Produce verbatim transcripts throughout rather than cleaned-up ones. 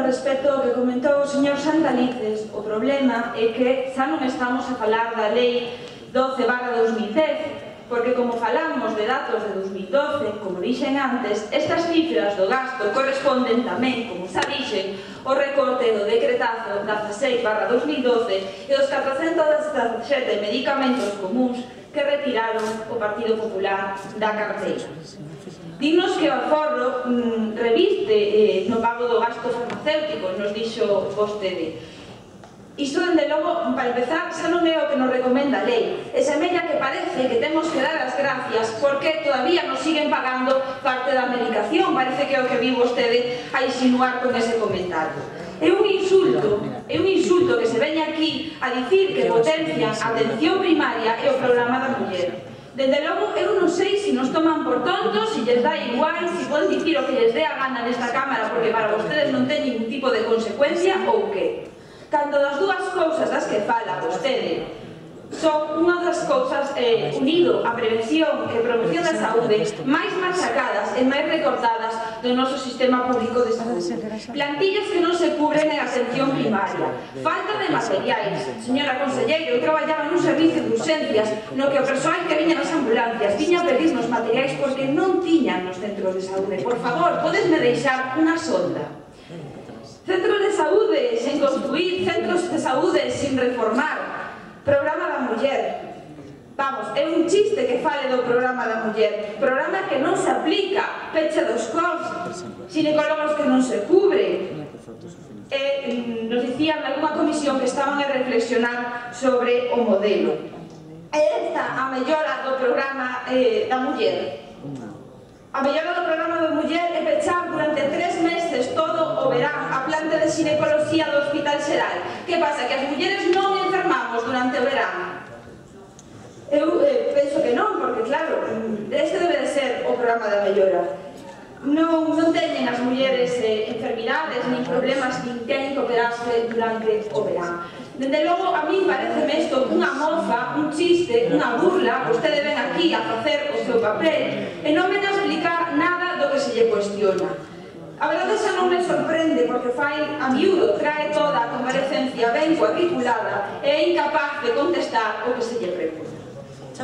respecto ao que comentou o señor Santalices, o problema é que xa non estamos a falar da lei doce barra dos mil dez, porque como falamos de datos de dos mil doce, como dixen antes, estas cifras do gasto corresponden tamén, como xa dixen, o recorte do decretazo dieciséis barra dos mil doce e os catrocentos dezasete medicamentos comuns que retiraron o Partido Popular da carteira. Dinos que o aforro mmm, reviste eh, no pago do gasto farmacéutico, nos dixo vostede. Isto, dende logo, para empezar, xa non é o que nos recomenda a lei. E semella que parece que temos que dar as gracias porque todavía nos siguen pagando parte da medicación. Parece que é o que vi vostede a insinuar con ese comentario. É un insulto, é un insulto que se veña aquí a dicir que potencian a atención primaria e o programa da muller. Dende logo, eu non sei se nos toman por tontos, se lles dá igual, se poden dicir o que lles dé a gana nesta cámara porque para vostedes non ten ningún tipo de consecuencia ou que. Cando das dúas cousas das que fala vostede son unha das cousas eh, unido a prevención e promoción da saúde máis machacadas e máis recortadas do noso sistema público de saúde. Plantillas que non se cubren en atención primaria, falta de materiais. Señora conselleiro, eu traballaba nun servicio de urxencias no que o persoal que viña nas ambulancias viña a pedirnos materiais porque non tiñan nos centros de saúde. Por favor, podesme deixar unha sonda. Centros de saúde sen construir, centros de saúde sin reformar, programa da muller. Vamos, é un chiste que fale do programa da muller, programa que non se aplica, peche dos cos, ginecólogos que non se cubren. E nos dicían en algunha comisión que estaban a reflexionar sobre o modelo. E esta a mellora do programa eh, da muller. A mellora do programa da muller é pechar durante tres meses todo o verán a planta de ginecoloxía do Hospital Xeral. Que pasa? Que as mulleres non enfermamos durante o verán? Eu eh, penso que non, porque claro, este debe de ser o programa da mellora. Non, non teñen as mulleres eh, enfermidades, nin problemas, nin teñen que operarse durante o verán. Dende logo, a mí pareceme isto unha mofa, un chiste, unha burla. Vostede ven aquí a facer o seu papel e non ven a explicar nada do que se lle cuestiona. A verdade xa non me sorprende porque fai a miúdo, trae toda a comparecencia ben cuadriculada e é incapaz de contestar o que se lle pregunta.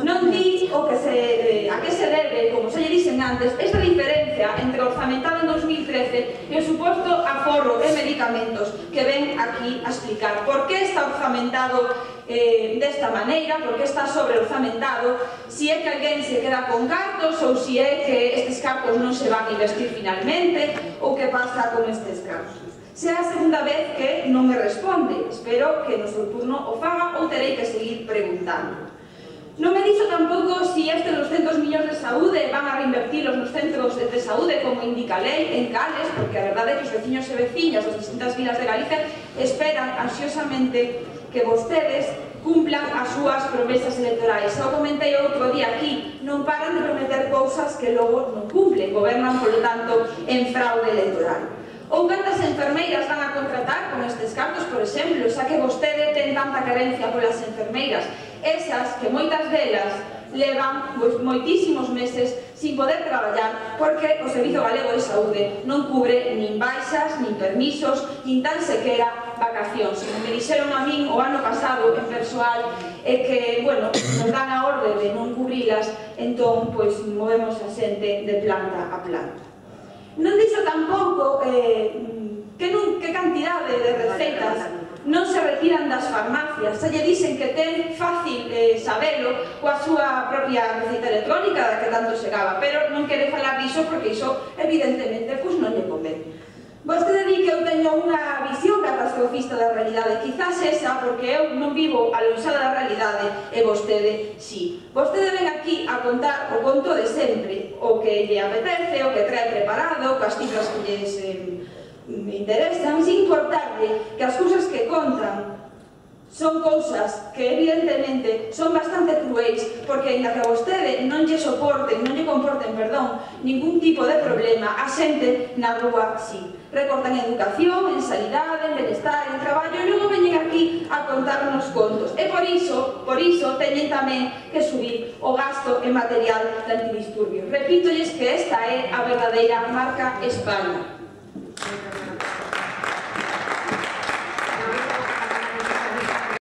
Non di o que se, eh, a que se debe, como se lle dixen antes, esta diferencia entre o orzamentado en dos mil trece e o suposto aforro de medicamentos que ven aquí a explicar. Por que está orzamentado eh, desta maneira, por que está sobre orzamentado, si é que alguén se queda con cartos ou si é que estes cartos non se van a investir finalmente ou que pasa con estes cartos. Se é a segunda vez que non me responde, espero que no seu turno o faga ou terei que seguir preguntando. Non me dixo tampouco si estes doscentos millóns de saúde van a reinvertilos nos centros de saúde como indica a lei, en cales, porque a verdade é que os veciños e veciñas das distintas vilas de Galicia esperan ansiosamente que vostedes cumplan as súas promesas electorais. Xa o comentei outro día aquí, non paran de prometer cousas que logo non cumplen, gobernan, polo tanto, en fraude electoral. Ou cantas enfermeiras van a contratar con estes cartos, por exemplo, xa que vostede ten tanta carencia polas enfermeiras, esas que moitas delas levan moitísimos meses sin poder traballar porque o Servizo Galego de Saúde non cubre nin baixas, nin permisos, nin tan sequera vacacións. Como me dixeron a min o ano pasado en persoal é que, bueno, nos dan a orde de non cubrilas, entón, pois, movemos a xente de planta a planta. Non dixo tampouco eh, que, non, que cantidade de receitas non se retiran das farmacias. Se lle dicen que ten fácil eh, sabelo coa súa propia receita electrónica da que tanto se gaba, pero non quere falar diso porque iso evidentemente pois non lle convén. Vostede di que eu teño unha visión catastrofista da realidade, quizás esa porque eu non vivo aloixada da realidade e vostede sí. Vostede ven aquí a contar o conto de sempre, o que lle apetece, o que trae preparado, coas cifras que lles eh, me interesan, sin importarle que as cousas que contan son cousas que evidentemente son bastante cruéis, porque ainda que a vostede non lle soporten, non lle comporten, perdón, ningún tipo de problema, a xente na rúa sí. Recortan en educación, en sanidade, en benestar, en traballo, e logo veñen aquí a contarnos contos. E por iso, por iso, teñen tamén que subir o gasto en material de antidisturbios. Repítolles que esta é a verdadeira marca España.